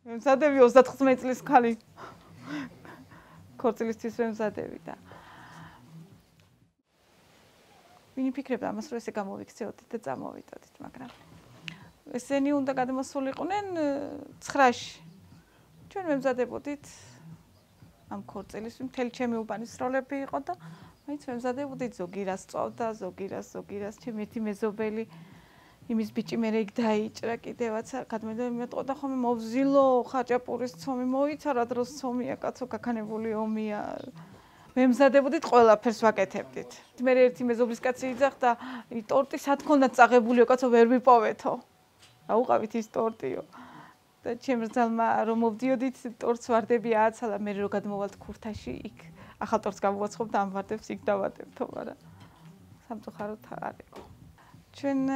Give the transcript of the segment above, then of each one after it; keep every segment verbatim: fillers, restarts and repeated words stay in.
მზადები ოცდათხმეტ წლის ქალი. ქორწილისთვის მზადები და ვინ იფიქრებდა ამას, რომ ესე გამოვიქცეოდით და წამოვიდოდით, მაგრამ ესენი უნდა გადმოსულიყვნენ ცხრაში. ჩვენ მემზადებოდით ამ ქორწილის, მთელი ჩემი უბანის როლები იყო და მაინც მემზადებოდით, ზოგი რას წვავდა, ზოგი რას, ზოგი რას, ჩემი ერთი მეზობელი იმის ბიჭი მე იქ დაიჭრა კიდევაც გადმედა მეტყოდა ხოლმე მოვზილო ხაჭაპურის ცომი მოიცა რა დროს ცომია კაცო გაქანებული ომია მემზადებოდით ყველაფერს ვაკეთებდით მე ერთი მეზობლის კაცი იძახდა ტორტი სად ქონდათ წაღებულიო კაცო ვერ ვიპოვეთო რა უყავით ის ტორტიო და ჩემს ძალმა რომ მოვდიოდით ტორტს ვარდები ააცალა მე რო გადმოვალთ ქურთაში იქ ახალ ტორტს გამოვაცხობ და ამ ვარდებს იქ დავადებთო მაგრამ სამწუხაროდ არ იყო ჩვენ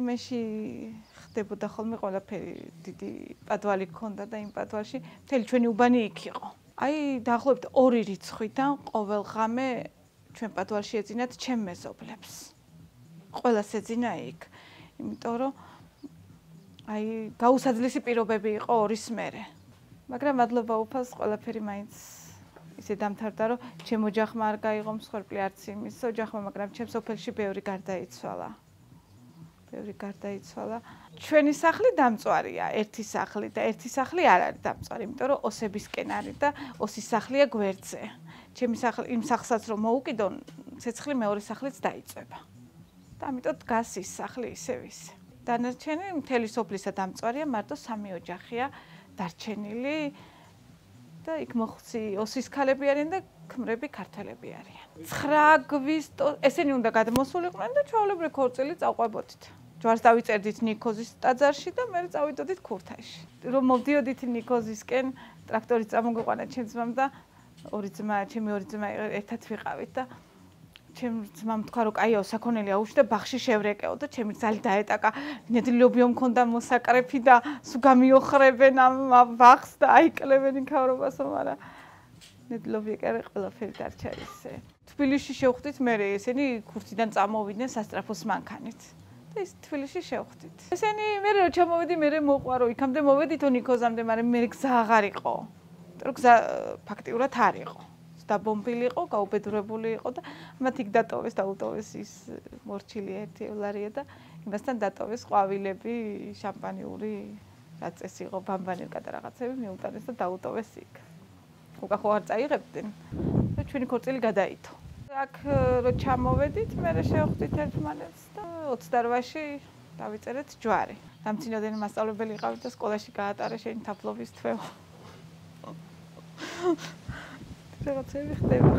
იმაში ხდებოდა ხოლმე ყველაფერი დიდი პადვალი გქონდა და იმ პადვალში მთელი ჩვენი უბანი იქ იყო. აი დაახლოებით ორი რიცხვიდან ყოველ ღამე ჩვენ პადვალში ეძინათ ჩემ მეზობლებს. ყველას ეძინა იქ. იმიტომ რომ აი გაუსაძლისი პირობები იყო ორის მერე. მაგრამ მადლობა უფალს ყველაფერი მაინც ისე დამთავრდა რომ ჩემ ოჯახმა არ გაიღო მსხვერპლი არც იმის ოჯახმა, მაგრამ ჩემ სოფელში ბევრი გარდაიცვალა. ბევრი გარდაიცვალა. ჩვენი სახლი დამწვარია, ერთი სახლი და ერთი სახლი არ არის დამწვარი, იმიტომ რომ ოსებისკენ არის და ოსის სახლია გვერდზე. ჩემი სახლი იმ სახლსაც რომ მოუკიდონ, ცეცხლი მეორე სახლიც დაიწვება. და ამიტომ დგას ის სახლი ისევ ისე. დანარჩენი მთელი სოფლისა დამწვარია, მარტო სამი ოჯახია დარჩენილი და იქ მოხუცი ოსის ქალები არიან და ქმრები ქართველები არიან. ცხრა აგვისტოს ესენი უნდა გადმოსულიყვნენ და ჩვეულებრივ ქორწილი წავყვებოდით. ჯვარს დავიწერდით ნიქოზის ტაძარში და მე წავიდოდით ქურთაში. რომ მოვდიოდით ნიქოზისკენ, ტრაქტორით წამოგვიყვანა ჩემ ძმამ და ორი ძმა, ჩემი ორი ძმა ერთად ვიყავით და ჩემ ძმამ თქვა რომ კაიო საქონელი აუშვი და ბაღში შევრეკეო და ჩემი ძალი დაეტაკა. ნედლობიო მქონდა მოსაკრეფი და სულ გამიოხრებენ ამ ბაღს და აიკლებენ იქავრობასო, მაგრამ ნედლობი ეკარე ყველაფერი დარჩა ისე. თბილისში შევხვდით მე ესენი ქურთიდან წამოვიდნენ სასტრაფოს მანქანით. და ის თბილისში შევხვდით. ესენი მე რო ჩამოვედი მე მოყვარო, იქამდე მოვედითო ნიქოზამდე, მაგრამ მე გზა აღარ იყო. რომ გზა ფაქტიურად არ იყო. დაბომბილი იყო, გაუბედურებული იყო და მათ იქ დატოვეს და უტოვეს ის მორჩილი ერთი ელარია და იმასთან დატოვეს ყვავილები, შამპანიური, რაც ეს იყო, ბამბანილკა და რაღაცები მიუტანეს და დაუტოვეს იქ. უკან ხო არ წაიღებდნენ და ჩვენი ქორწილი გადაითო. აქ რო ჩამოვედით, მე შევხვდით ერთმანეთს და ოცდარვაში დავიწერეთ ჯვარი. დამცინებელი მასწავლებელი იყავით და სკოლაში გაატარა შენი თაფლობის თვევა. რაღაცები ხდება.